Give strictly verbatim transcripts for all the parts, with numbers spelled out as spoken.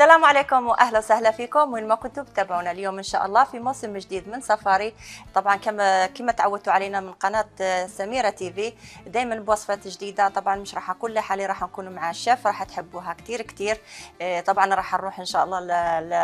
السلام عليكم واهلا وسهلا فيكم وين ما كنتم تتابعونا اليوم ان شاء الله في موسم جديد من سفاري. طبعا كما كما تعودتوا علينا من قناه سميره تي في دائما بوصفات جديده. طبعا مش راح اقول لحالي راح نكون مع الشيف راح تحبوها كثير كثير. طبعا راح نروح ان شاء الله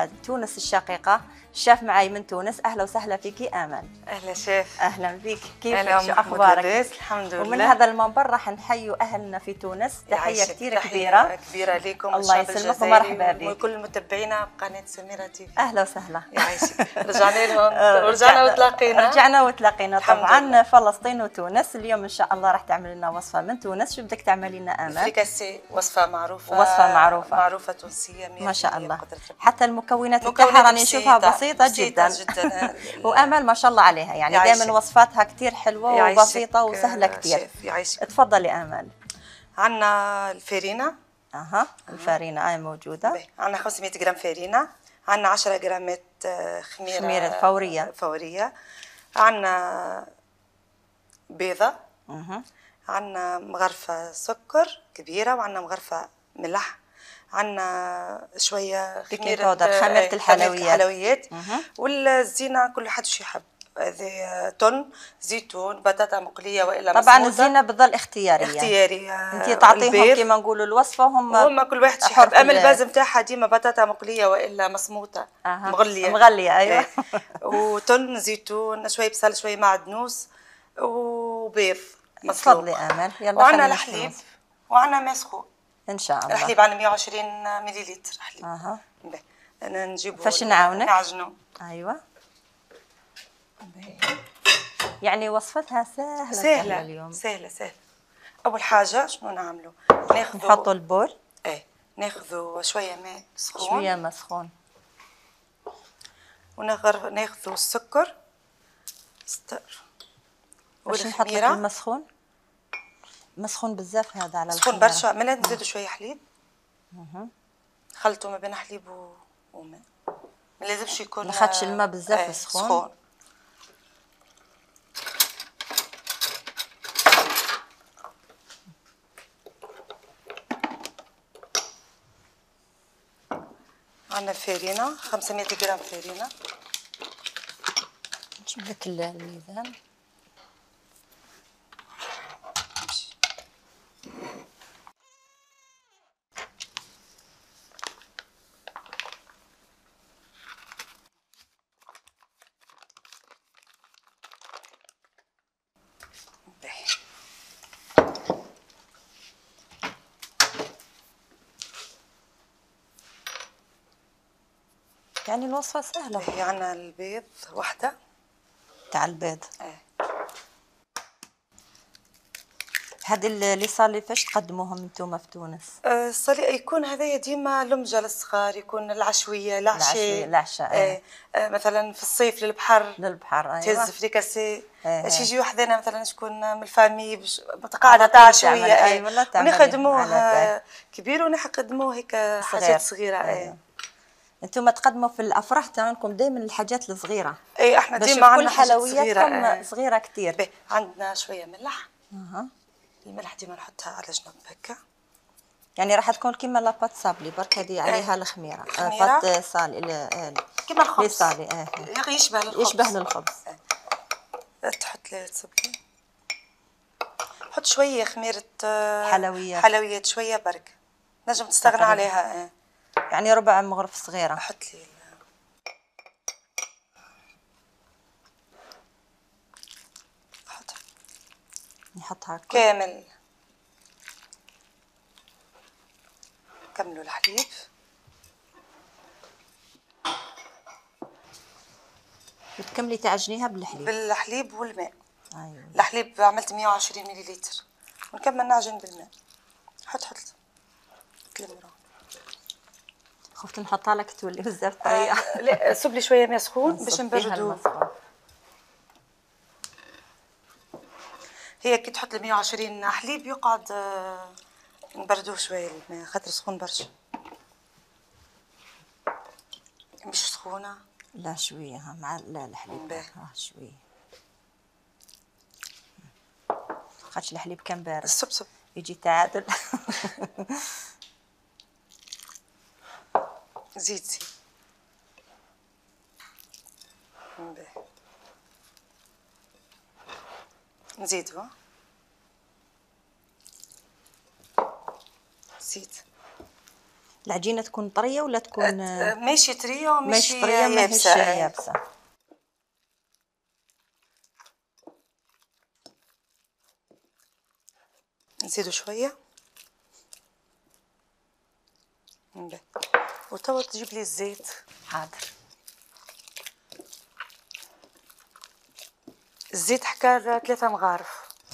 لتونس الشقيقه. الشيف معي من تونس. اهلا وسهلا فيكي امل. اهلا شيف. اهلا بك. كيفك؟ شو اخبارك؟ الحمد لله. ومن هذا المنبر راح نحيوا اهلنا في تونس. تحيه كثير كبيره كبيره لكم. الله يسلمك ومرحبا بك وكل متابعينا بقناه سميره تي في. اهلا وسهلا. يعيشك. رجعنا لهم ورجعنا وتلاقينا. رجعنا وتلاقينا طبعا فلسطين وتونس. اليوم ان شاء الله راح تعمل لنا وصفه من تونس. شو بدك تعملي لنا امل؟ فريكاسي وصفه معروفه وصفه معروفه معروفه تونسيه ما شاء الله. حتى المكونات بتاعها راني نشوفها بسيطه جدا جدا وامل ما شاء الله عليها يعني دائما وصفاتها كثير حلوه وبسيطه وسهله كثير. تفضلي امل. عندنا الفارينه. اها الفارينه هاي موجوده. عندنا خمسمية غرام فارينه. عندنا عشرة غرامات خميره خميره فوريه فوريه. عندنا بيضه. اها عندنا مغرفه سكر كبيره وعندنا مغرفه ملح. عندنا شويه خميره خميره الحلويات الحلويات والزينه كل حد شو يحب. هذه تون زيتون بطاطا مقليه والا طبعا الزينه بتظل اختياريه اختياريه. انت تعطيهم كيما نقولوا الوصفه هم هم كل واحد يحب. اما الباز نتاعها ديما بطاطا مقليه والا مصموطه أه. مغليه مغليه ايوه. وتون زيتون شويه بصل شويه معدنوس وبيض مسلوق. تفضلي امل. يلا وعندنا الحليب وعندنا ماء سخون ان شاء الله. الحليب عندنا مية وعشرين مليلتر حليب. اها انا نجيبه فاش نعاونك؟ نعجنه. ايوه يعني وصفتها سهله سهله اليوم. سهله سهله. اول حاجه شنو نعملوا؟ ناخذوا نحطوا البول. ايه ناخذوا شويه ماء سخون. شويه ماء سخون ونغر ناخذوا السكر ستر واش نحط لك الماء سخون؟ مسخون بزاف هذا على سخون برشا. من نزيدوا شويه حليب. اها خلطوا ما بين حليب وماء. ما لازمش يكون ما خدش الماء بزاف ايه سخون. سخون. عندنا الفارينه خمسمية غرام فارينه. نجيب لك الميزان. يعني الوصفة سهلة. هي عندنا البيض وحدة تاع البيض. ايه هذه اللي صار لي فاش تقدموهم انتم في تونس؟ أه صار يكون هذايا ديما لمجة للصغار يكون العشوية العشاء. العشاء ايه أه مثلا في الصيف للبحر. للبحر ايوه. تهز فريكاسي. ايه باش يجيو وحدنا مثلا شكون من الفامي باش قاعدة تاع عشوية. ايه ونخدموه كبير ونقدموه هيك حاجات صغيرة. ايه انتم تقدموا في الافراح تاعكم دائما الحاجات الصغيره. اي احنا ديما عندنا حلوياتكم صغيره, صغيرة كثير. عندنا شويه ملح. اها الملح ديما نحطها على جنب هكا. يعني راح تكون كيما لاباط صابلي برك هذه عليها الخميره. بات صالي كيما الخبز. صالي اه يشبه للخبز. يشبه للخبز. اه. تحط لي تصبلي. حط شويه خميره حلويات. حلويات شويه برك. نجم تستغنى عليها. اه. يعني ربع مغرف صغيره. حط لي حط نحطها كامل. كملوا الحليب. وتكملي تعجنيها بالحليب. بالحليب والماء. ايوه الحليب عملت مية وعشرين مليلتر ونكمل نعجن بالماء. حط حط تلمرون. خفت نحطها لك تولي بزاف طريه. آه لا صب لي شويه ماء سخون باش نبردوه. هي كي تحط لي مية وعشرين حليب يقعد آه نبردوه شويه الماء خاطر سخون برشا. مش سخونه. لا شويه مع لا الحليب اه شويه خاطش الحليب كان بارد. صب صب يجي تعادل. زيد زيد. باهي. نزيدو. زيد. العجينه تكون طريه ولا تكون ماشي طريه وماشي طريه يابسه؟ يابسه. نزيدو شويه. باهي. وتوا تجيب لي الزيت. حاضر. الزيت حكا ثلاثة مغارف.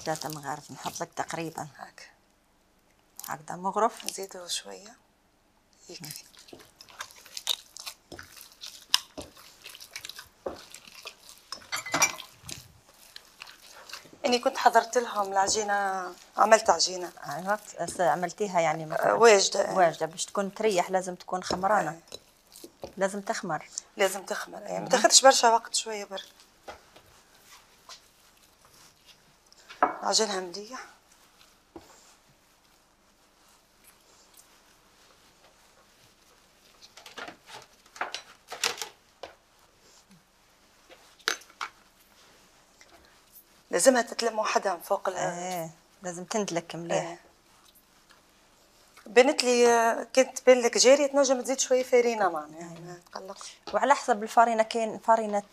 ثلاثة مغارف نحط لك تقريبا هكا هكذا مغرف. نزيدو شوية يكفي. اني كنت حضرت لهم العجينة، عملت عجينة. ايوه عملتيها يعني مثلا واجدة واجدة باش تكون تريح، لازم تكون خمرانة. أه. لازم تخمر. لازم تخمر يعني ما تاخذش برشا وقت، شوية برك. عجنها مليح. لازمها تتلم وحدها من فوق. ايه لازم تندلك مليح. ايه. بنت لي كنت تبان لك جاريه تنجم تزيد شويه فارينه معناها. ما تقلقش. وعلى حسب الفارينه، كاين فارينه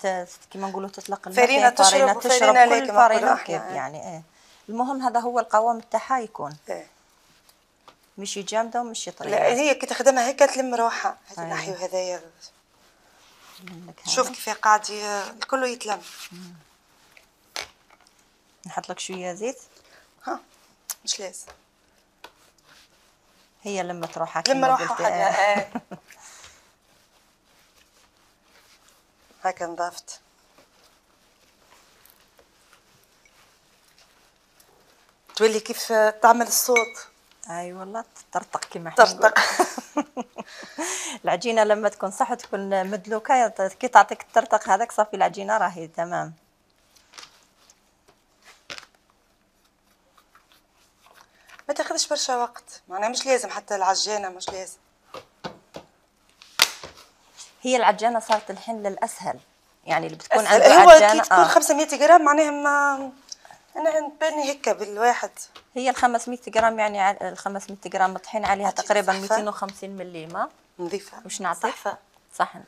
كيما نقولوا تطلق الماء، فارينه تشرب تشرب كل فارينه كيف يعني. ايه المهم هذا هو القوام تاعها يكون. ايه مشي جامده ومشي طريه. لا هي كي تخدمها هيك تلم روحها. هذا النحي وهذايا شوف كيف قاعد الكل يتلم. مم. نحط لك شويه زيت. ها مش لازم. هي لما تروح لما روحها حاجه. ايه هكا نضفت. تولي كيف تعمل الصوت. اي والله تطرطق كيما احنا نقول. العجينه لما تكون صح تكون مدلوكه، كي تعطيك الترطق هذاك صافي العجينه راهي تمام. ما تاخذش برشا وقت، معناها مش لازم حتى العجانه مش لازم. هي العجانه صارت الحين للاسهل يعني، اللي بتكون عنده عجانه كي تكون آه. خمسمية غرام معناها ما انا نباني هيك بالواحد. هي ال خمسمية غرام يعني ال خمسمية غرام مطحين عليها تقريبا مئتين وخمسين ملي ماء نظيفه. واش نعطيك؟ صحفه. صحن.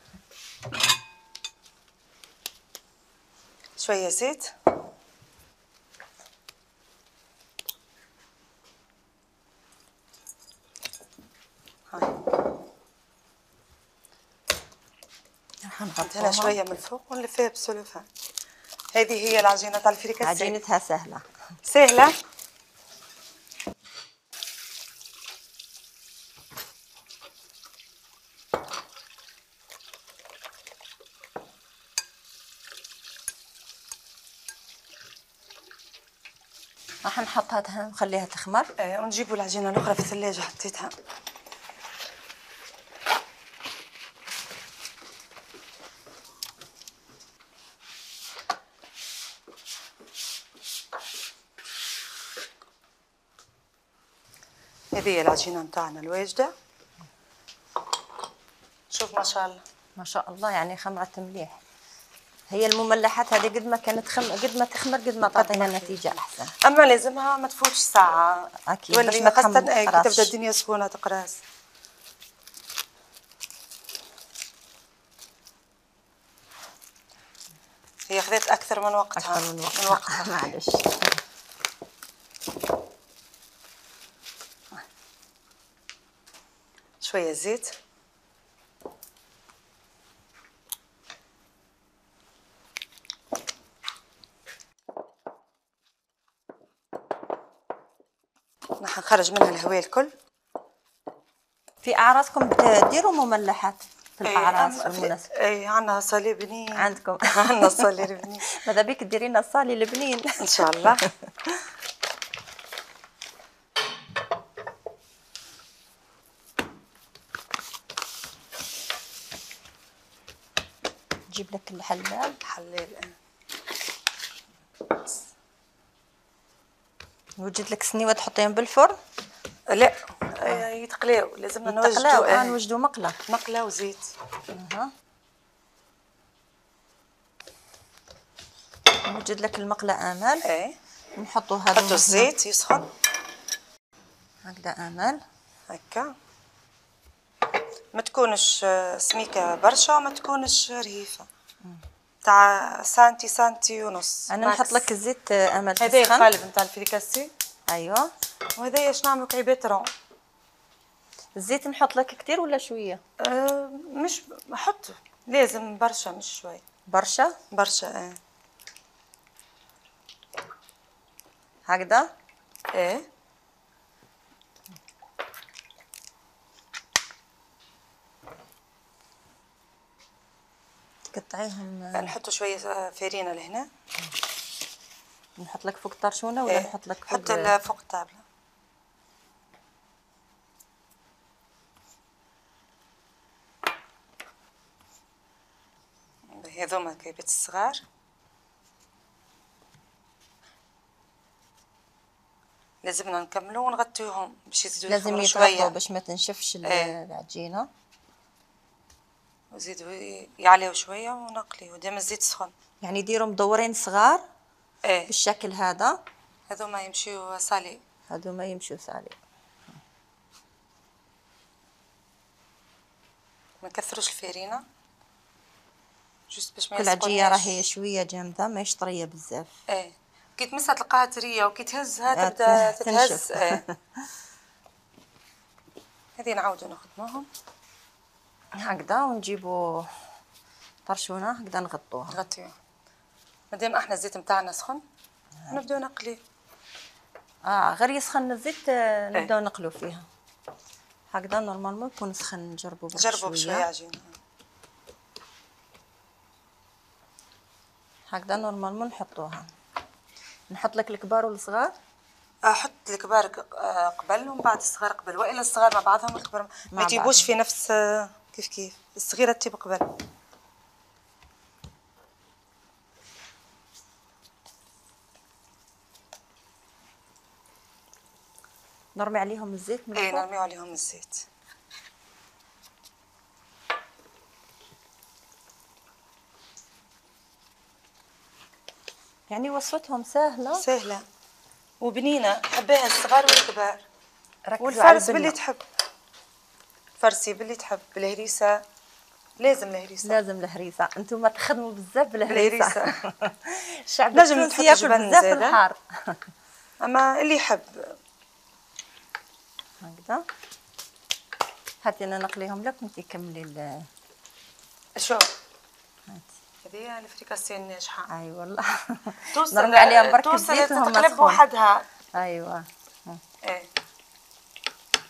شويه زيت. هاي راح نحط هنا شويه من الفوق ونلفيها بالسلوفان. هذه هي العجينه تاع الفريكاسيه. عجينتها سهله سهله. راح نحطها نخليها تخمر. ايه ونجيبوا العجينه الاخرى في الثلاجه حطيتها. هذه هي العجينه نتاعنا الواجده. شوف ما شاء الله ما شاء الله يعني خمرت مليح. هي المملحات هذه قد ما كانت خم... قد ما تخمر قد ما تعطينا نتيجه احسن. اما لازمها ما تفوتش ساعه اكيد باش ما خاصه كي تبدا الدنيا سخونه تقراص. هي خذت اكثر من وقتها. اكثر من وقتها, من وقتها. معلش. شويه زيت. راح نخرج منها الهواء الكل. في اعراسكم تديروا مملحات في الاعراس والمناسبات؟ اي عندنا صالي بنين. عندكم؟ عندنا صالي بنين. ماذا بيك تديري لنا الصالي البنين ان شاء الله. جيب لك الحلال. حلال. وجد لك سنيوه تحطيهم بالفرن؟ لا يتخ... يتقلاو، لازمنا يتقلاو، نوجدوا اه آه. نوجدوا مقله. مقله وزيت. اها نوجد لك المقله امل. ايه نحطوا هذا، نحطوا الزيت يسخن هكذا امل. هكا، ما تكونش سميكه برشا وما تكونش رهيفه، تاع سانتي سانتي ونص. انا نحط لك الزيت امل. هذا القالب نتاع الفريكاسي. ايوه. وهذا اش نعملوا كعيبات رون. الزيت نحط لك كتير ولا شويه؟ أه مش حط، لازم برشا مش شوي. برشا برشا اه. هكذا ايه. تقطعيهم. نحطوا شويه فرينه لهنا. نحط لك فوق الطرشونه ولا إيه؟ نحط لك فوق؟ حط فوق الطابله. هذوما كعيبات الصغار. لازمنا نكملوا ونغطيوهم باش يزيدوا لازم يتغطوا باش ما تنشفش ايه. العجينه. وزيدوا يعليو شويه ونقليو ديما الزيت سخن. يعني ديروا مدورين صغار ايه بالشكل هذا. هذوما يمشيو سالي. هذوما يمشيو سالي. ما نكثروش الفرينه جوست باش ما كل عجيه راهي شويه جامده ماهيش طريه بزاف. ايه كي تمسها تلقاها طريه وكي تهزها تبدا تتهز. ايه هذه نعاودو نخدموهم هكذا ونجيبو طرشونه هكذا نغطوها. نغطيوها مادام احنا الزيت نتاعنا سخن نبداو نقلي. اه غير يسخن الزيت نبداو نقلو فيها هكذا. نورمالمون يكون سخن. نجربوا برك نجربوا بشويه عجينه هكذا. نورمالمون نحطوها. نحط لك الكبار والصغار. احط الكبار قبل ومن بعد الصغار قبل، والا الصغار مع بعضهم والكبار ما يطيبوش في نفس كيف كيف. الصغيره تطيب قبل. نرمي عليهم الزيت من ايه الفوق. نرميو عليهم الزيت. يعني وصفتهم سهله سهله وبنينه، حباها الصغار والكبار. والفرس باللي تحب، فرسي باللي تحب. بالهريسه لازم الهريسه. لازم الهريسه. انتم تخدموا بزاف بالهريسه. الشعب نجم التونسي نحط ياكل بزاف الحار. اما اللي يحب. هكذا. هاتي انا نقليهم لك وانتي كملي ال شو هاتي. هذه الفريكاسي الناجحه. اي والله. نرمي عليهم برك الزيت وهم تقلب بوحدها. ايوه. ايه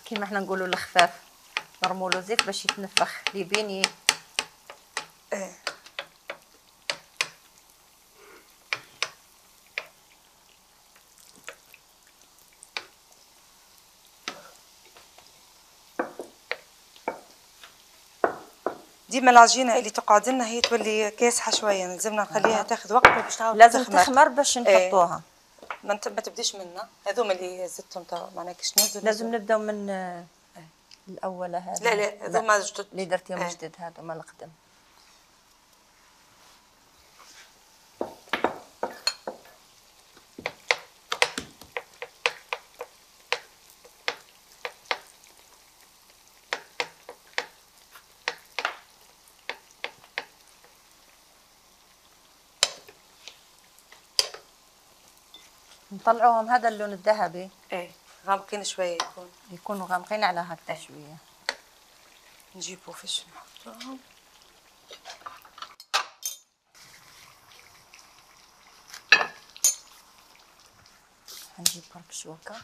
كيما احنا نقولوا الخفاف نرموا له زيت باش يتنفخ ليبين. ايه ديما العجينه اللي تقعد لنا هي تولي كاسحه شويه، لازمنا نخليها تاخذ وقت باش تعاود لازم تخمر باش نحطوها. ما انت ما تبديش منا. هذوما اللي زدتهم توا معناها كيش نزلوا. لازم نبداو من الاولى هذا. لا لا هذوما جدد اللي درتيهم جدد هذوما القدم. نطلعوهم هذا اللون الذهبي. ايه غامقين شويه يكون يكونوا غامقين على هكذا شويه. نجيبو فاش نحطوهم. نجيب برك شوكه.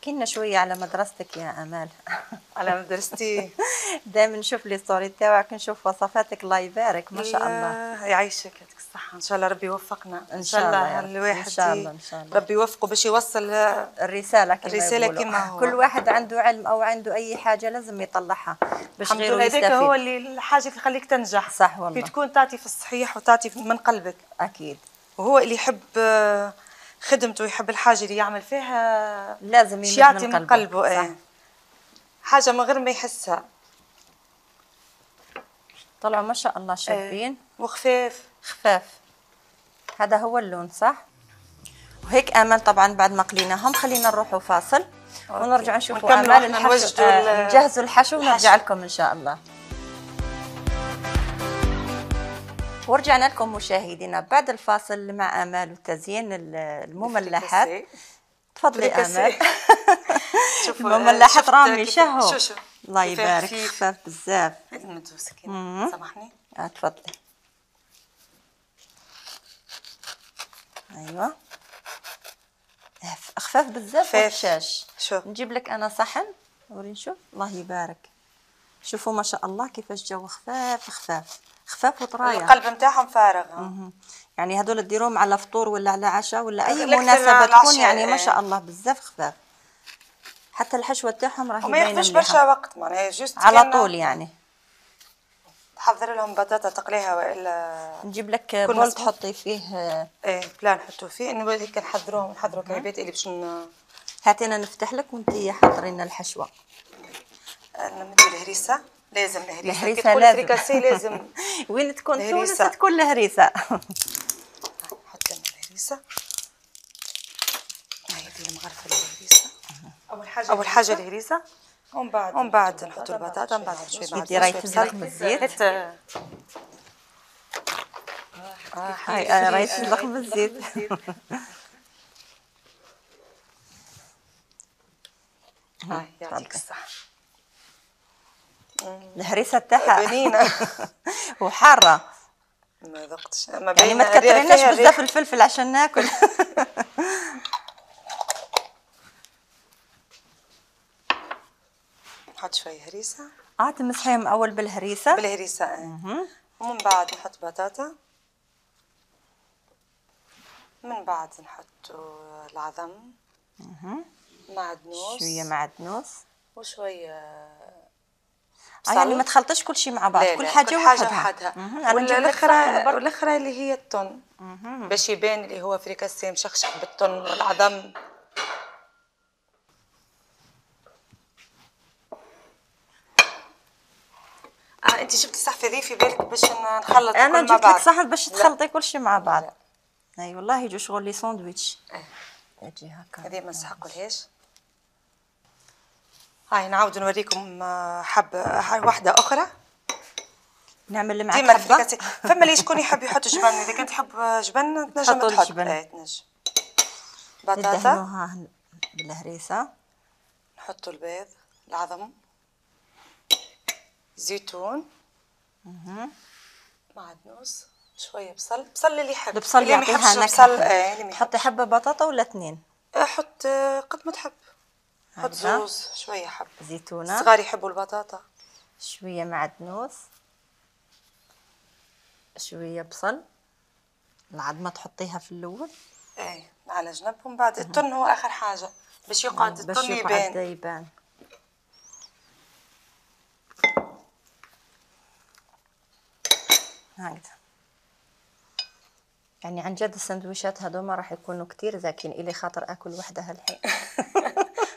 احكي لنا شويه على مدرستك يا امال. على مدرستي دائما نشوف لي ستوري تاعك، نشوف وصفاتك، الله يبارك ما شاء الله. يعيشك يعطيك الصحة، إن شاء الله ربي يوفقنا إن شاء الله الواحد إن شاء الله إن شاء الله ربي يوفقه باش يوصل الرسالة كما الرسالة يقولوا. كما هو. كل واحد عنده علم أو عنده أي حاجة لازم يطلعها باش الحمد غيره لله. يستفيد. هذاك هو اللي الحاجة اللي تخليك تنجح. صح والله. كي تكون تعطي في الصحيح وتعطي من قلبك. أكيد. وهو اللي يحب خدمته ويحب الحاجة اللي يعمل فيها لازم يعطي من من قلبه. ايه حاجة من غير ما يحسها. طلعوا ما شاء الله شابين. ايه. وخفاف. خفاف. هذا هو اللون صح؟ وهيك امل طبعا بعد ما قليناهم خلينا نروحوا فاصل ونرجع نشوفوا امال الحشو. آه نجهزوا الحشو ونرجع لكم ان شاء الله. ورجعنا لكم مشاهدينا بعد الفاصل مع امال وتزيين المملحات. تفضلي امال. المملحات رامي شهو. الله يبارك خفاف بزاف. هذه المدوسه كيما سامحني. اه تفضلي. ايوه خفاف بزاف والشاش. شوف نجيب لك انا صحن وري نشوف. الله يبارك. شوفوا ما شاء الله كيفاش جو خفاف خفاف خفاف وطرايه. القلب نتاعهم فارغ. يعني هذول ديروهم على فطور ولا على عشاء ولا اي مناسبه تكون يعني ما شاء الله بزاف خفاف. حتى الحشوه تاعهم راهي باينه. ما ياخذوش برشا وقت معناها جوست على طول يعني. تحضر لهم بطاطا تقليها والا نجيب لك بول تحطي فيه. ايه بلا نحطوا فيه انه هيك نحضروهم نحضروا كعبات اللي باش ن... هاتينا نفتح لك وانتي حضري لنا الحشوه. نمدوا الهريسه. لازم الهريسه. الهريسه لازم. فريكاسي لازم. وين تكون تونس تكون الهريسه. نحط لنا الهريسه. هاي دي المغرفه الهريسه. اول حاجه اول حاجه الهريسه ومن بعد ومن بعد نحطوا البطاطا ومن بعد شويه بعد ديري تزلق بالزيت. اه هاي راهي تزلق بالزيت. هاي يعطيك الصحه. الهريسه تاعها بنينه وحاره. ما ذقتش يعني ما تكثريناش بزاف الفلفل عشان ناكل. نحط شويه هريسه. اه تمسحيهم اول بالهريسه. بالهريسه اه. ومن بعد نحط بطاطا. من بعد نحطوا العظم. معدنوس. شويه معدنوس. وشويه آه يعني ما تخلطش كل شيء مع بعض. لا كل لا حاجه كل حاجه وحدها. والاخرى والاخرى اللي هي التون باش يبان اللي هو فريكاسي مشخشخ بالتون والعظم. اه انت جبتي صحفه ذي في بالك باش نخلط انا كل مع جبت بعض. لك صحن باش تخلطي كل شيء مع بعض. اي أيوة والله يجوا شغل لي ساندويتش. اه اجي هكا. هذه ما نسحقولهاش. هاي نعاود نوريكم حبه واحده اخرى. نعمل معك حبه. فما اللي شكون يحب يحط جبن. اذا كنت تحب جبن تنجم تحط. ايه تنجم. بطاطا ندهنوها بالهريسه. نحطوا البيض العظم زيتون معدنوس شويه بصل. بصل اللي يحب. البصل اللي ما يحبش بصل ايه حطي حبه بطاطا ولا اثنين. حط قد ما تحب. حط زوز شويه حب زيتونه. الصغار يحبوا البطاطا. شويه معدنوس. شويه بصل. العظمه تحطيها في الاول. ايه على جنب. ومن بعد التن هو اخر حاجه باش يقعد التن يبان. باش يبان. هكذا. يعني عن جد السندويشات هذوما راح يكونوا كتير زاكين إلي خاطر اكل وحدها الحين.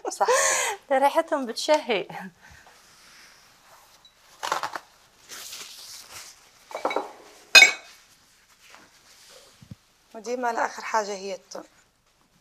صح. ريحتهم بتشهي. وديما لاخر حاجه هي التون.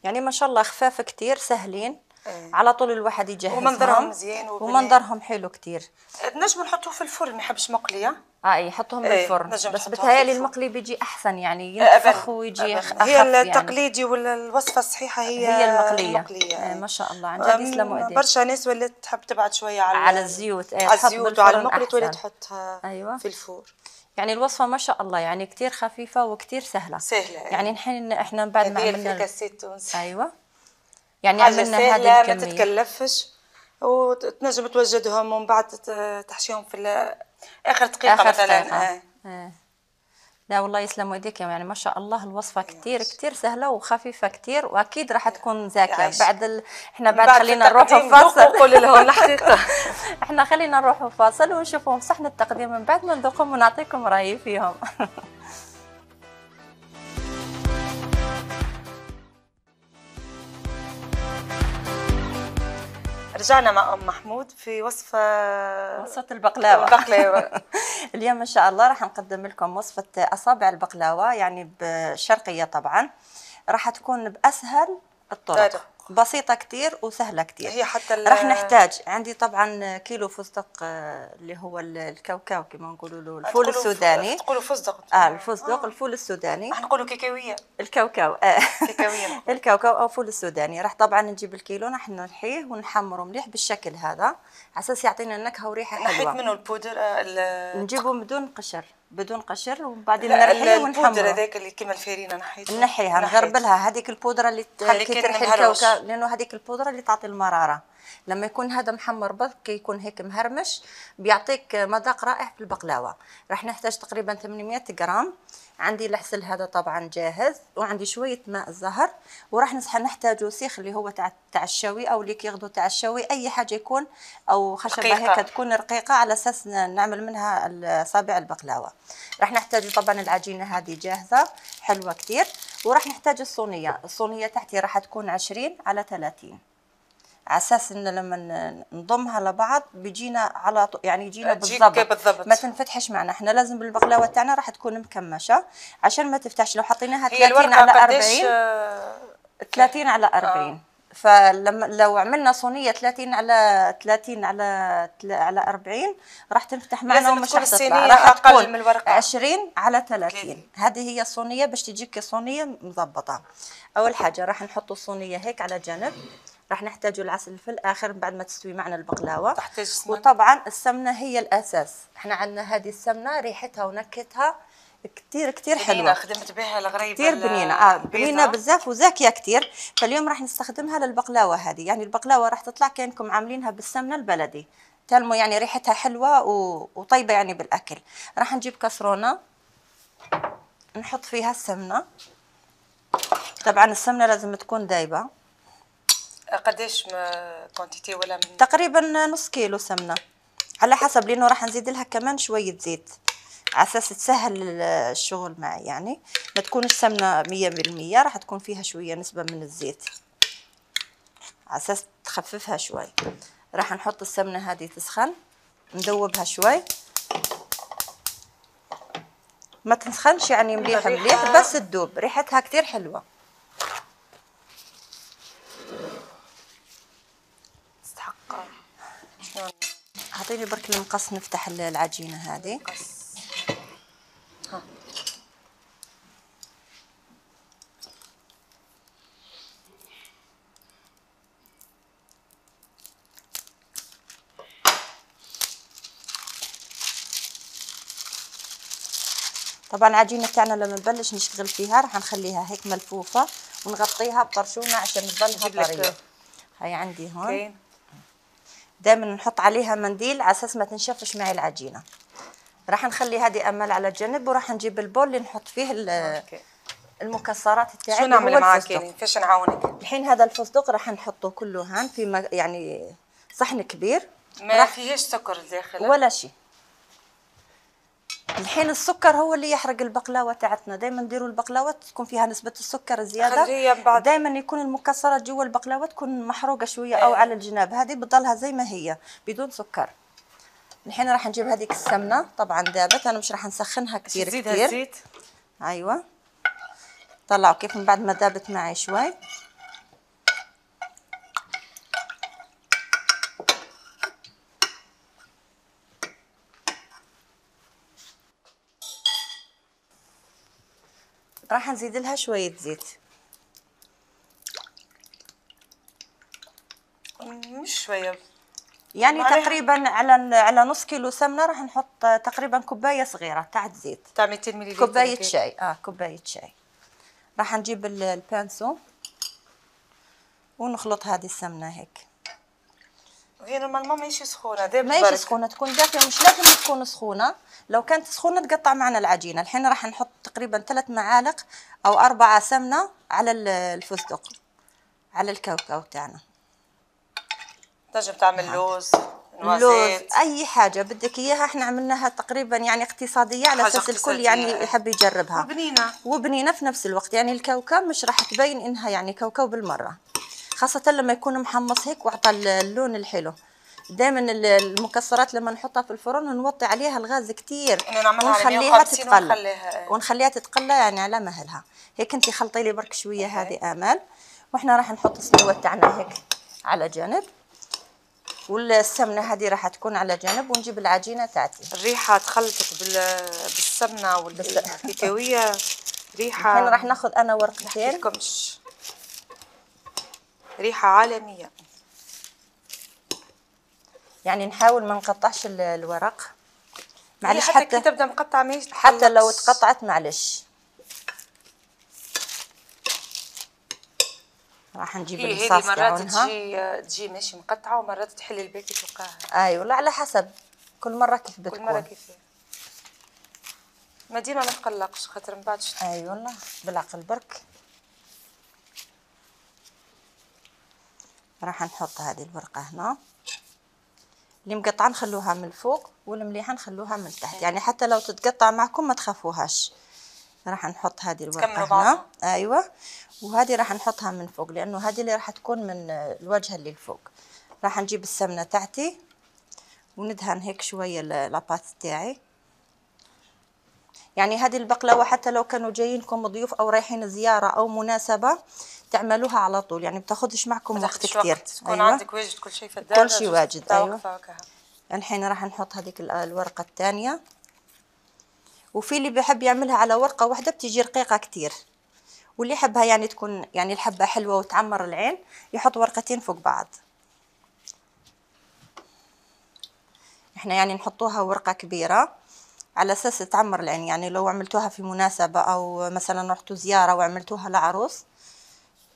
يعني ما شاء الله خفاف كتير سهلين. ايه. على طول الواحد يجهزهم. ومنظرهم مزيان ومنظرهم حلو كتير. نجموا نحطوه في الفرن ما يحبش مقليه. اه يحطهم ايه. بالفرن. بس بتهيألي المقلي بيجي احسن يعني ينفخ ويجي اخف. هي التقليدي يعني. ولا الوصفه الصحيحه هي هي المقليه, المقلية. ايه. ما شاء الله عن جد يسلموا ايديك. برشا ناس ولات تحب تبعد شويه على على الزيوت. ايه. على الزيوت وعلى المقلي تولي تحطها. أيوة. في الفور. يعني الوصفه ما شاء الله يعني كتير خفيفه وكتير سهله. سهله يعني الحين احنا بعد ما عملنا الفريكاسي التونسي. ايوه يعني حاجه عملنا سهله هذه ما الكميه. تتكلفش، وتنجم توجدهم ومن بعد تحشيهم في اخر دقيقه آخر مثلا. دقيقة. آه. آه. لا والله يسلموا يديك، يعني ما شاء الله الوصفه كتير كتير سهله وخفيفه كتير، واكيد راح تكون زاكيه. بعد ال... احنا بعد, بعد خلينا نروحوا فاصل. قول لهم الحقيقه. احنا خلينا نروحوا فاصل ونشوفهم صحن التقديم، من بعد ما نذوقهم ونعطيكم رايي فيهم. رجعنا مع ام محمود في وصفه وصفه البقلاوه. البقلاوه. اليوم ان شاء الله راح نقدم لكم وصفه اصابع البقلاوه، يعني بالشرقيه طبعا. راح تكون باسهل الطرق، طيب. بسيطه كتير وسهله كتير. هي حتى راح نحتاج عندي طبعا كيلو فستق اللي هو الكاوكاو كما نقولوا له، الفول السوداني. تقولوا فستق؟ اه الفستق. آه. الفول السوداني راح نقولوا كيكاويه. الكاوكاو. اه كيكاويه. الكاوكاو او فول السوداني. راح طبعا نجيب الكيلو، راح نحيه ونحمره مليح بالشكل هذا على اساس يعطينا نكهه وريحه حلوه. نحيت منه البودر. نجيبه بدون قشر، بدون قشر، وبعدين نرحيه ونحمره. البودره هذاك اللي كيما الفارينه نحيته، نحيها نغربلها. هذيك البودره اللي كي ترحي الكاوكاو، لانه هذيك البودره اللي تعطي المراره. لما يكون هذا محمر برك يكون هيك مهرمش، بيعطيك مذاق رائع في البقلاوه. راح نحتاج تقريبا ثمانمئة غرام. عندي العسل هذا طبعا جاهز، وعندي شويه ماء الزهر، وراح نحتاجوا سيخ اللي هو تاع تاع الشوي او اللي كياخذوا تاع الشوي، اي حاجه يكون، او خشبه هيك تكون رقيقه على اساس نعمل منها اصابع البقلاوه. راح نحتاج طبعا العجينه هذه جاهزه حلوه كتير. وراح نحتاج الصينيه. الصينيه تحتي راح تكون عشرين على ثلاثين، على اساس ان لما نضمها لبعض بيجينا على يعني يجينا بالضبط، ما تنفتحش معنا. احنا لازم بالبقلاوه تاعنا راح تكون مكمشه عشان ما تفتحش. لو حطيناها ثلاثين على أربعين، ثلاثين على أربعين. آه. فلما لو عملنا صينيه ثلاثين على ثلاثين على على أربعين راح تنفتح معنا ومش راح تطلع. راح تكون عشرين على ثلاثين. هذه هي الصينيه باش تجيك صينيه مضبطه. اول حاجه راح نحط الصينيه هيك على جنب. راح نحتاجوا العسل في الاخر بعد ما تستوي معنا البقلاوه. تحتاج سمنه. وطبعا السمنه هي الاساس. احنا عندنا هذه السمنه ريحتها ونكهتها كتير كتير حلوه. خدمت بها الغريبه كتير بنينه. اه بنينه بزاف وزاكيه كتير. فاليوم راح نستخدمها للبقلاوه هذه. يعني البقلاوه راح تطلع كانكم عاملينها بالسمنه البلدي، تلمو يعني ريحتها حلوه و... وطيبه يعني بالاكل. راح نجيب كسرونه نحط فيها السمنه. طبعا السمنه لازم تكون دايبه. قداش كونتيتي ولا من؟ تقريبا نص كيلو سمنه على حسب، لانه راح نزيد لها كمان شويه زيت على اساس تسهل الشغل معي. يعني ما تكونش سمنه مية بالمية، راح تكون فيها شويه نسبه من الزيت على اساس تخففها شوي. راح نحط السمنه هذه تسخن، ندوبها شوي، ما تسخنش يعني مليح مليح، بس تدوب. ريحتها كتير حلوه. اعطيني برك المقص نفتح العجينه هذه. ها. طبعا العجينه تاعنا لما نبلش نشتغل فيها راح نخليها هيك ملفوفه ونغطيها بطرشونه عشان تضلها طريه. هاي عندي هون. okay. دائما نحط عليها منديل على اساس ما تنشفش معي العجينه. راح نخلي هذه امل على جنب، وراح نجيب البول اللي نحط فيه المكسرات تاعي. شو نعمل معاك يعني؟ كيفاش نعاونك الحين؟ هذا الفستق راح نحطه كله هان في يعني صحن كبير، ما فيهش سكر داخل ولا شيء. الحين السكر هو اللي يحرق البقلاوه تاعتنا. دائما نديروا البقلاوه تكون فيها نسبه السكر زياده، دائما يكون المكسرات جوا البقلاوه تكون محروقه شويه او على الجناب. هذه بتضلها زي ما هي بدون سكر. الحين راح نجيب هذيك السمنه طبعا دابت، انا مش راح نسخنها كثير كثير. ايوه طلعوا كيف من بعد ما دابت معي شوي. راح نزيد لها شويه زيت، مش شويه يعني تقريبا على على نص كيلو سمنه راح نحط تقريبا كوبايه صغيره تاع زيت، تاع مئتين مليلتر، كوبايه شاي. اه كوبايه شاي. راح نجيب البانسو ونخلط هذه السمنه هيك. هي نورمالمون ماهيش سخونه دابا ماهيش سخونه، تكون دافيه، مش لازم تكون سخونه. لو كانت سخونه تقطع معنا العجينه. الحين راح نحط تقريبا ثلاث معالق او اربعه سمنه على الفستق، على الكاوكاو تاعنا. تنجم تعمل لوز، لوز، اي حاجه بدك اياها. احنا عملناها تقريبا يعني اقتصاديه على اساس الكل يعني يحب يجربها، وبنينه وبنينه في نفس الوقت. يعني الكاوكاو مش راح تبين انها يعني كاوكاو بالمره، خاصه لما يكون محمص هيك وعطى اللون الحلو. دائما المكسرات لما نحطها في الفرن نوطي عليها الغاز كتير ونخليها تتقلى ونخليها تتقلى يعني على مهلها. هيك انت خلطي لي برك شويه هذه امال، واحنا راح نحط السلوه تاعنا هيك على جانب، والسمنه هذه راح تكون على جانب، ونجيب العجينه تاعتي. الريحه تخلطت بالسمنه والكاكاويه ريحه. الحين راح ناخذ انا ورقتين، ريحه عالميه. يعني نحاول ما نقطعش الورق، معلش حتى, حتى كي تبدا مقطعه ماهيش، حتى لو تقطعت معلش. راح نجيب الصاص تاعها. مرات تجي تجي ماشي مقطعه، ومرات تحل الباكي توقعها. اي والله على حسب كل مره كيف بتكون. كل مره كيف ما ديما ما تقلقش خاطر من بعد. اي والله بالعقل برك. راح نحط هذه الورقه هنا، اللي مقطعه نخلوها من الفوق والمليحه نخلوها من تحت. يعني حتى لو تتقطع معكم ما تخافوهاش. راح نحط هذه الورقه هنا. ايوه، وهذه راح نحطها من فوق لانه هذه اللي راح تكون من الواجهه اللي الفوق. راح نجيب السمنه تاعتي وندهن هيك شويه لاباط تاعي. يعني هذه البقلاوه حتى لو كانوا جايينكم ضيوف او رايحين زياره او مناسبه تعملوها على طول، يعني بتاخذش معكم وقت كثير. تكون أيوة. عندك واجد كل شيء في الدار، كل شيء واجد. ايوه. الحين راح نحط هذيك الورقه الثانيه، وفي اللي بيحب يعملها على ورقه واحده بتيجي رقيقه كثير، واللي يحبها يعني تكون يعني الحبه حلوه وتعمر العين يحط ورقتين فوق بعض. احنا يعني نحطوها ورقه كبيره على اساس تعمر العين. يعني لو عملتوها في مناسبه او مثلا رحتوا زياره وعملتوها لعروس،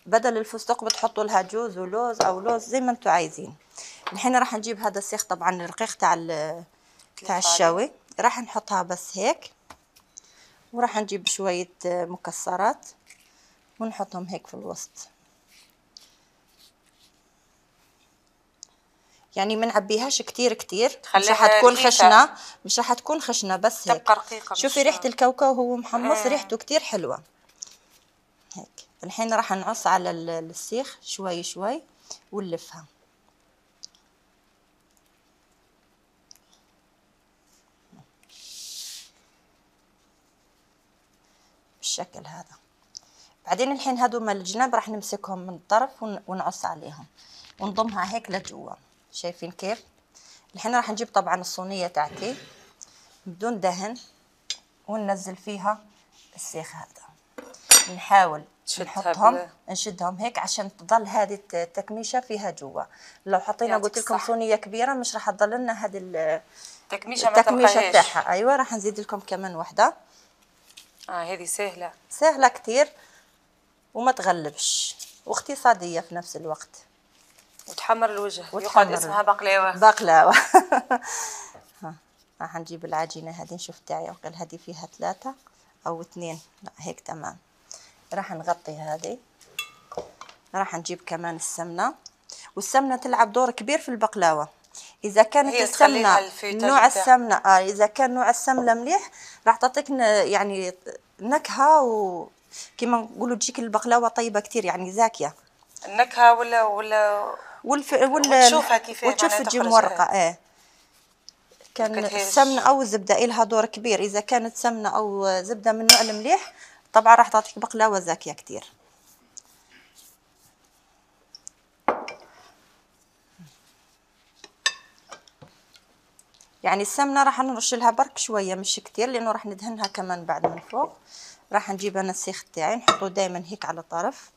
بدل الفستق بتحطوا لها جوز ولوز او لوز زي ما انتم عايزين. الحين راح نجيب هذا السيخ طبعا الرقيق تاع تاع الشاوي، راح نحطها بس هيك، وراح نجيب شويه مكسرات ونحطهم هيك في الوسط. يعني ما نعبيهاش كتير كتير، مش راح تكون خشنه، مش راح تكون خشنه بس هيك تبقى رقيقه. شوفي ريحه الكاوكاو وهو محمص آه. ريحته كتير حلوه هيك. الحين راح نعص على السيخ شوي شوي ونلفها بالشكل هذا. بعدين الحين هذوما الجناب راح نمسكهم من الطرف ونعص عليهم ونضمها هيك لجوا. شايفين كيف؟ الحين راح نجيب طبعا الصينيه تاعتي بدون دهن وننزل فيها السيخ هذا، نحاول نحطهم نشدهم هيك عشان تضل هذه التكميشه فيها جوا. لو حطينا قلت لكم صينيه كبيره مش راح تضل لنا هذه التكميشه التكميشه تاعها. ايوه راح نزيد لكم كمان وحده. اه هذه سهله سهله كتير وما تغلبش واقتصاديه في نفس الوقت وتحمر الوجه. يقعد اسمها بقلاوه. بقلاوه. ها راح نجيب العجينه هذه. نشوف تاعي وقال هذه فيها ثلاثه او اثنين، لا هيك تمام. راح نغطي هذه. راح نجيب كمان السمنه، والسمنه تلعب دور كبير في البقلاوه. اذا كانت السمنه نوع السمنه اه اذا كان نوع السمنه مليح راح تعطيك يعني نكهه، وكما نقولوا تجيك البقلاوه طيبه كتير يعني زاكيه النكهه ولا ولا والف... ولا وتشوفها كيف وتشوف تجي مورقه. ايه كان السمنه او الزبده لها دور كبير. اذا كانت سمنه او زبده من النوع المليح طبعا راح تعطيك بقلاوه زاكيه كتير. يعني السمنه راح نرش لها برك شويه مش كتير لانه راح ندهنها كمان بعد من فوق. راح نجيب انا السيخ تاعي نحطه دائما هيك على طرف.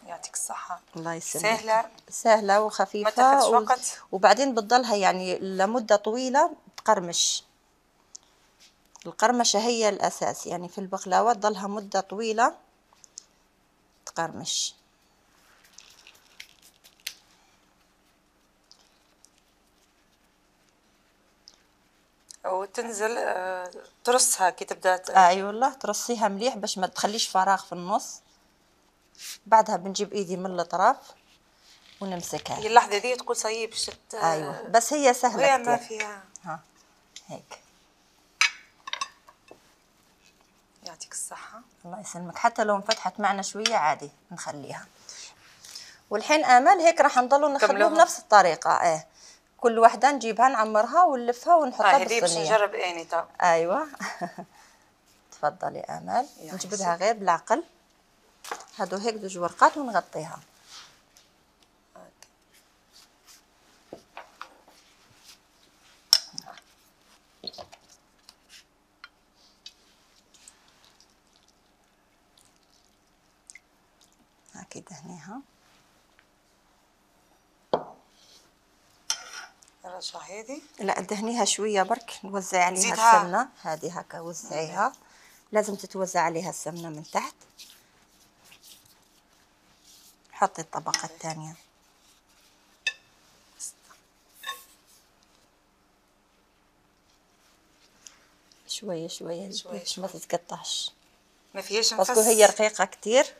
يعطيك الصحه. الله يسلمك. سهله سهله وخفيفه، ما تاخذش و... وقت، وبعدين بتضلها يعني لمده طويله تقرمش. القرمشه هي الاساس يعني في البقلاوه، تضلها مده طويله تقرمش. وتنزل آه ترصها كي تبدا اي أيوة والله ترصيها مليح باش ما تخليش فراغ في النص. بعدها بنجيب ايدي من الاطراف ونمسكها. هي اللحظه دي تقول صيب شت. ايوه بس هي سهله هي كتير. ما فيها. ها هيك. يعطيك الصحه. الله يسلمك. حتى لو انفتحت معنا شويه عادي نخليها. والحين امل هيك راح نضلوا نخلوه بنفس الطريقه. ايه كل وحده نجيبها نعمرها ونلفها ونحطها بالصينيه. باش نجرب اني طب. ايوه. تفضلي امل. نجبدها غير بالعقل. هادو هيك دوج ورقات ونغطيها. هاكي دهنيها. الرشة هذه؟ لا دهنيها شويه برك نوزعي عليها السمنه. هذه هكا وزعيها. لازم تتوزع عليها السمنه من تحت. حطي الطبقه الثانيه. شويه شويه باش ما تتقطعش. ما فيهاش نفس. باسكو هي رقيقه كتير.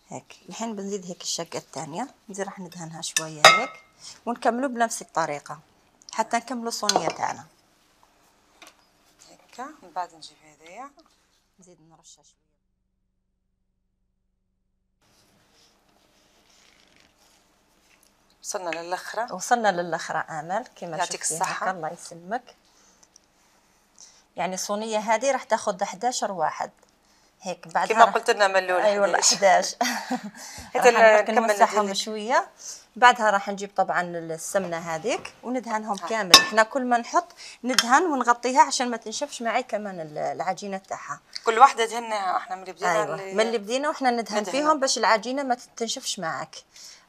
هيك الحين بنزيد هيك الشقه الثانيه. نزيد راح ندهنها شويه هيك ونكملوا بنفس الطريقه حتى نكملوا الصينيه تاعنا. هكا من بعد نجيب هذايا نزيد نرشها شويه. وصلنا للاخره. وصلنا للاخره امل كما يعطيك الصحه. الله يسلمك. يعني الصينيه هذه راح تاخذ احد عشر واحد هيك. بعد كما قلت لنا ملول. اي والله احد عشر. راح نمسحهم شويه. بعدها راح نجيب طبعا السمنه هذيك وندهنهم ها. كامل. احنا كل ما نحط ندهن ونغطيها عشان ما تنشفش معي كمان العجينه تاعها. كل واحده دهناها احنا من اللي بدينا. أيوة. اللي... من اللي بدينا واحنا ندهن, ندهن فيهم باش العجينه ما تنشفش معك.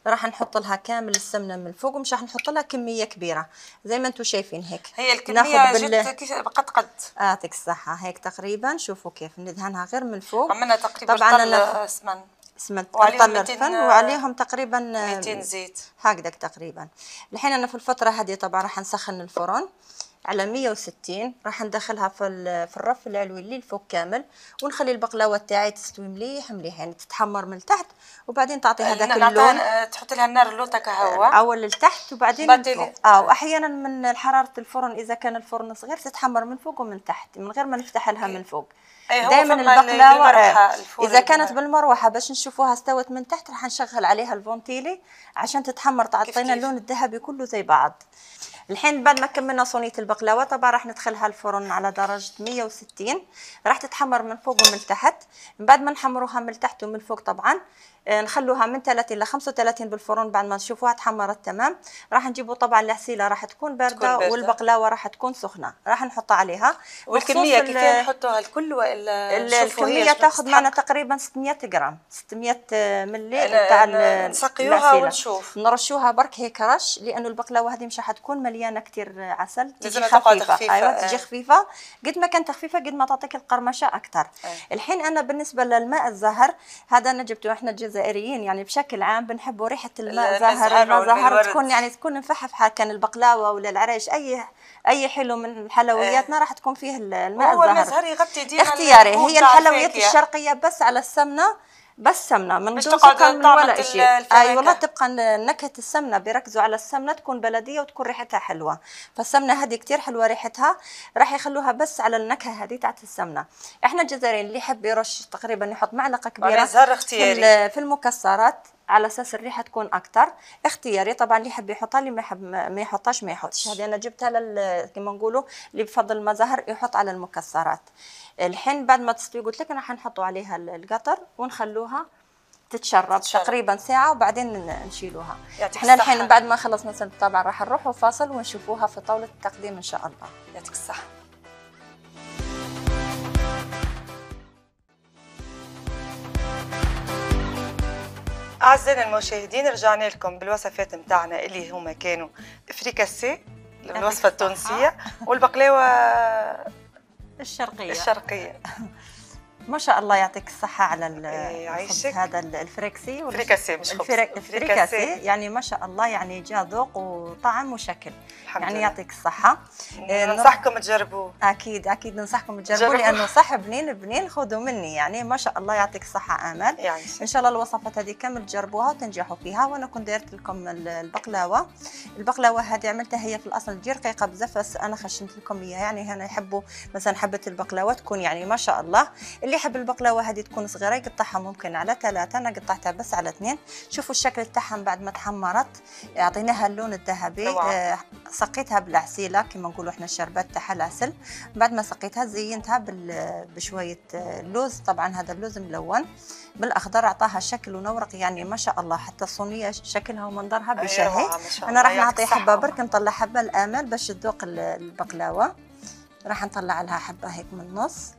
راح نحط لها كامل السمنه من الفوق ومش راح نحط لها كميه كبيره زي ما انتم شايفين هيك. هي الكميه بال... جت كيف قد قد. يعطيك الصحه. هيك تقريبا. شوفوا كيف ندهنها غير من الفوق. عملنا تقريبا طبعا انا سمن سمنت طل الفن وعليهم تقريبا مئتين زيت هكذا تقريبا. الحين انا في الفتره هذه طبعا راح نسخن الفرن على مية وستين. راح ندخلها في في الرف العلوي اللي الفوق كامل ونخلي البقلاوه تاعي تستوي مليح مليح يعني تتحمر من تحت وبعدين تعطي هذاك اللون. تحط لها النار اللوطه كهواء اول لتحت وبعدين من فوق. اه واحيانا من حراره الفرن اذا كان الفرن صغير تتحمر من فوق ومن تحت من غير ما نفتح لها من فوق. دائما البقلاوه اذا كانت بالمروحه باش نشوفوها استوت من تحت راح نشغل عليها الفونتيلي عشان تتحمر تعطينا اللون الذهبي كله زي بعض. الحين بعد ما كملنا صينيه البقلاوه طبعا راح ندخلها الفرن على درجه مية وستين. راح تتحمر من فوق ومن تحت. من بعد ما نحمروها من تحت ومن فوق طبعا نخلوها من ثلاثين ل خمسة وثلاثين بالفرن. بعد ما نشوفوها تحمرت تمام راح نجيبوا طبعا العسيله راح تكون بارده والبقلاوه راح تكون سخنه راح نحطها عليها. والكميه كيف نحطوها الكل والا الكميه تاخذ معنا تقريبا ستمية غرام ستمية ملي تاع نسقيوها ونشوف. نرشوها برك هيك رش لانه البقلاوه هذه مش راح تكون مليانه كثير عسل. تجي خفيفه. خفيفه. ايوه تجي خفيفه. قد ما كانت خفيفه قد ما تعطيك القرمشه اكثر. الحين انا بالنسبه للماء الزهر هذا انا جبته. احنا الجزائريين يعني بشكل عام بنحبوا ريحه الماء زهر. الماء زهر تكون يعني تكون مفحفحه كان البقلاوه ولا العريش اي اي حلو من حلوياتنا راح تكون فيه الماء الزهر. هو الماء الزهر يغطي ديما اختياري. هي الحلويات الشرقيه بس على السمنه بس سمنه من دون سكر من ولا شيء. اي والله تبقى نكهه السمنه بيركزوا على السمنه تكون بلديه وتكون ريحتها حلوه. فالسمنه هذه كثير حلوه ريحتها راح يخلوها بس على النكهه هذه تاعت السمنه. احنا الجزائريين اللي يحب يرش تقريبا يحط معلقه كبيره في في المكسرات على اساس الريحه تكون اكثر. اختياري طبعا اللي يحب يحطها اللي ما يحب ما يحطهاش ما يحطش. هذه انا جبتها لل كما نقولوا اللي بفضل ما زهر يحط على المكسرات. الحين بعد ما تستوي قلت لك راح نحطوا عليها القطر ونخلوها تتشرب تقريبا ساعه وبعدين نشيلوها. احنا الحين بعد ما خلصنا طبعا راح نروحوا فاصل ونشوفوها في طاوله التقديم ان شاء الله. يعطيك الصحه. أعزائنا المشاهدين رجعنا لكم بالوصفات متاعنا اللي هما كانوا فريكاسي الوصفة التونسية والبقلاوة الشرقية الشرقية. ما شاء الله يعطيك الصحة على الخبز هذا الفريكسي الفريكاسي مش خبز الفريكاسي، يعني ما شاء الله يعني جا ذوق وطعم وشكل، يعني لله. يعطيك الصحة. ننصحكم تجربوه. أكيد أكيد ننصحكم تجربوه لأنه صح بنين بنين، خذوا مني يعني ما شاء الله يعطيك الصحة آمال. يعني إن شاء الله الوصفات هذه كامل تجربوها وتنجحوا فيها. وأنا كنت دايرت لكم البقلاوة. البقلاوة هذه عملتها هي في الأصل تجي رقيقة بزاف، بس أنا خشنت لكم إياها، يعني هنا يحبوا مثلا حبة البقلاوة تكون يعني ما شاء الله. اللي يحب البقلاوة هذه تكون صغيرة يقطعها ممكن على ثلاثة، أنا قطعتها بس على اثنين. شوفوا الشكل تاعها بعد ما تحمرت أعطيناها اللون الذهبي. آه سقيتها بالعسيلة كما نقولوا احنا الشربات تاعها العسل. بعد ما سقيتها زينتها بشوية لوز، طبعا هذا اللوز ملون بالاخضر، اعطاها شكل ونورق يعني ما شاء الله. حتى الصينيه شكلها ومنظرها بشهي. انا راح نعطي حبه برك، نطلع حبه الامال باش تذوق البقلاوه. راح نطلع لها حبه هيك من النص.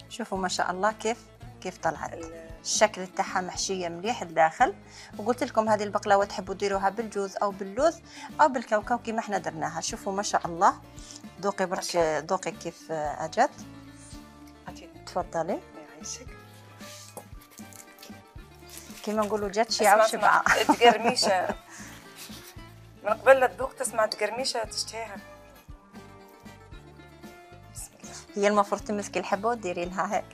شوفوا ما شاء الله كيف كيف طلعت، الشكل تاعها محشيه مليح الداخل. وقلت لكم هذه البقلاوه تحبوا ديروها بالجوز او باللوز او بالكاوكاو كيما احنا درناها. شوفوا ما شاء الله، ذوقي برك ذوقي كيف اجت. تفضلي. كيما نقولوا جات شيعة وشبعة. تقرميشة من قبل لا تذوق تسمع تقرميشة تشتهيها. بسم الله. هي المفروض تمسكي الحبة وديري لها هيك.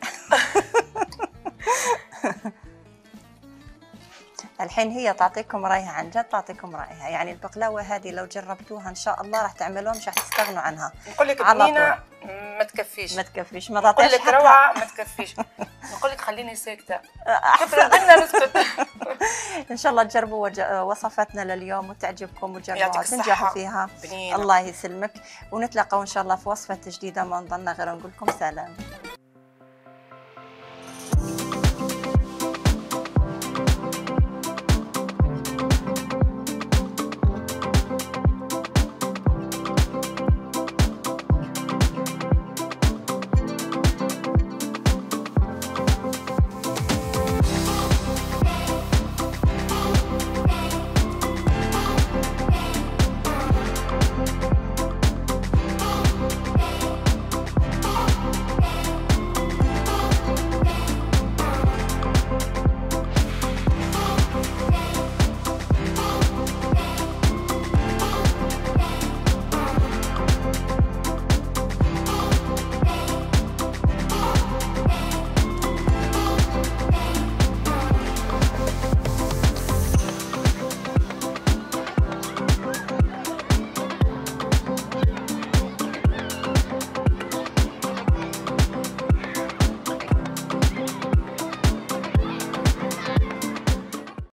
الحين هي تعطيكم رايها، عن جد تعطيكم رايها. يعني البقلاوه هذه لو جربتوها ان شاء الله راح تعملوها مش راح تستغنوا عنها. نقول لك بنينه ما تكفيش ما تكفيش ما تعطيش. نقول لك روعه ما تكفيش. نقول لك خليني ساكته. كيف ردنا نسكت. ان شاء الله تجربوا وصفاتنا لليوم وتعجبكم وتجربوها وتنجحوا فيها. بنينة. الله يسلمك، ونتلاقوا ان شاء الله في وصفه جديده. ما نظلنا غير نقول لكم سلام.